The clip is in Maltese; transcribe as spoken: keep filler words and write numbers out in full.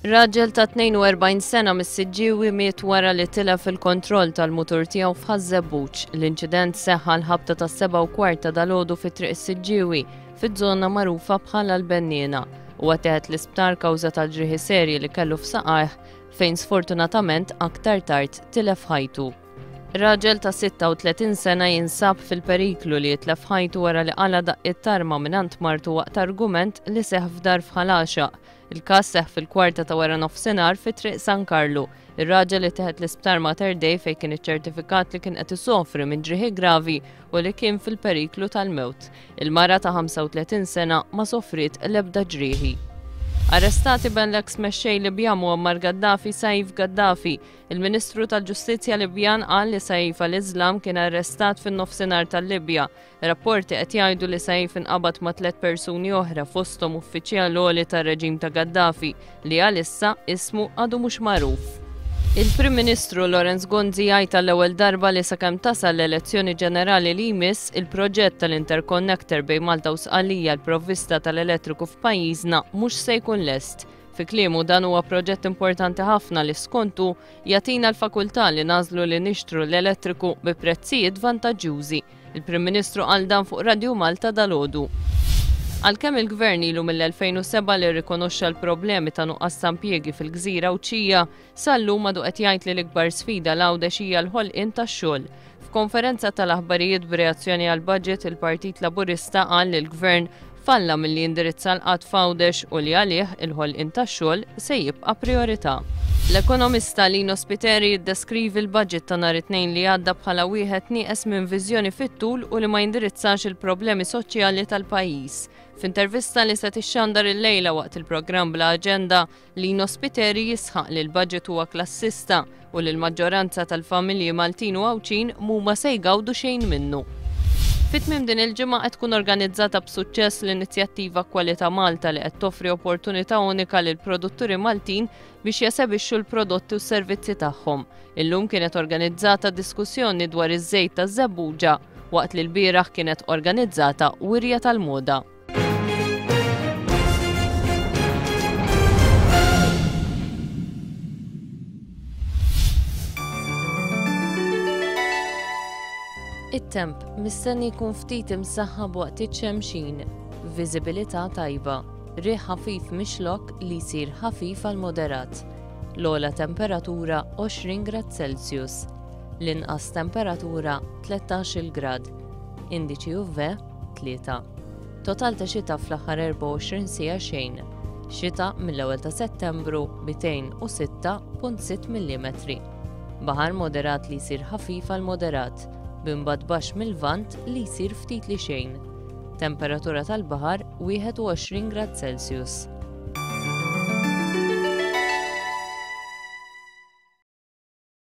Raġel ta' tnejn u erbgħin sena mis-Siġġiewi miet wara li tilef il-kontroll tal-mutur tiegħu f'Ħaż-Żebbuġ. L-inċident seħħ għal ħabta ta' seba' u kwart ta' dalgħodu fi Triq is-Siġġiewi, fiż-żona magħrufa bħala l-Benniena. Huwa ttieħed l-isptar kawża tal-ġrieħi serji li kellu f'saqajh, fejn sfortunatament aktar tard tilef ħajtu. Raġel ta' sitta u tletin sena jinsab fil-periklu li jitlef ħajtu wara li qala daqqiet t'arma mingħand martu waqt argument li seħ f'dar f'Ħal Għaxaq. Il-każ seħ fil-kwarta ta' wara nofsinhar fi Triq San Karlu. Ir-raġel li ttieħed l-isptar Mater Dei, fejn kien iċċertifikat li kien qed isofri minn ġrieħi gravi u li kien fil-periklu tal-mewt. Il-mara ta' ħamsa u tletin sena ma sofriet l-ebda ġrieħi. Arrestati ben l-ex mexxej Libjan Muammar Gaddafi, Saif Gaddafi. Il-Ministru tal-Ġustizzja Libjan qal li Saif al-Islam kien arrestat fin-nofsinhar tal-Libja. Rapporti qed jgħidu li Saif inqabad ma' tliet persuni oħra, fosthom uffiċjal għoli tar-reġim ta' Gaddafi li għalissa ismu għadu mhux magħruf. Il-Prim Ministru Lawrence Gonzi jgħid għall-ewwel darba li sakemm tasal l-elezzjoni ġenerali li jmiss, il-proġett tal-interconnector bejn Malta u Sqallija l-provvista tal-elettriku f'pajjiżna mhux se jkun lest. Fi kliemu, dan huwa proġett importanti ħafna li skontu jagħtina l-fakultà li nagħżlu li nixtru l-elettriku bi prezzijiet vantaġġjużi. Il-Prim Ministru qal dan fuq Radio Malta dalgħodu. Għalkemm il-Gvern ilu mill-elfejn u sebgħa li rrikonoxxa l-problemi ta' nuqqas ta' impjiegi fil-gżira Għawdxija, sal-lum għadu qed jgħid li l-ikbar sfida għal Għawdex hija l-ħolqien tax-xogħol. F'konferenza tal-aħbarijiet b'reazzjoni għal budget, il-Partit Laburista qal li l-Gvern falla milli jindirizza l-qgħad f'Għawdex u li għalih il-ħolqien tax-xogħol se jibqa' priorità. L-ekonomista Lino Spiteri jiddeskrivi l-budget ta' nhar it-Tnejn li għadda bħala wieħed nieqes minn viżjoni fit-tul u li ma jindirizzax il-problemi soċjali tal-pajjiż. F'intervista li se tixxandar il-lejla waqt il-programm Bla Aġenda, Lino Spiteri jisħaq li l-budget huwa klassista u li l-maġġoranza tal-familji Maltin u Għawdxin mhuma se jgawdu xejn minnu. Fit-tmiem din il-ġimgħa qed tkun organizzata b'suċċess l-inizjattiva Kwalità Malta, li qed toffri opportunità unika lil produtturi Maltin biex jesebixxu l-prodotti u s-servizzi tagħhom. Illum kienet organizzata diskussjoni dwar iż-żejt taż-żebbuġa, waqt li l-bieraħ kienet organizzata wirja tal-moda. It-temp mistenni jkun ftit imsaħħab waqt iċ-xemxin, viżibilità tajba, riħ ħafif mix-Xlokk li jsir ħafif għal moderat. L-ogħla temperatura għoxrin grad Celsius, l-inqas temperatura tlettax-il grad, indiċi U V tlieta. Total ta' xita fl-aħħar erbgħa u għoxrin siegħa xejn. Xita mill-ewwel ta' Settembru mitejn u sitta punt sitt millimetri. Baħar moderat li jsir ħafif għal moderat, b'imbagħad baxx mil-Lvant li jsir ftit li xejn. Temperatura tal-baħar wieħed u għoxrin grad Celsius.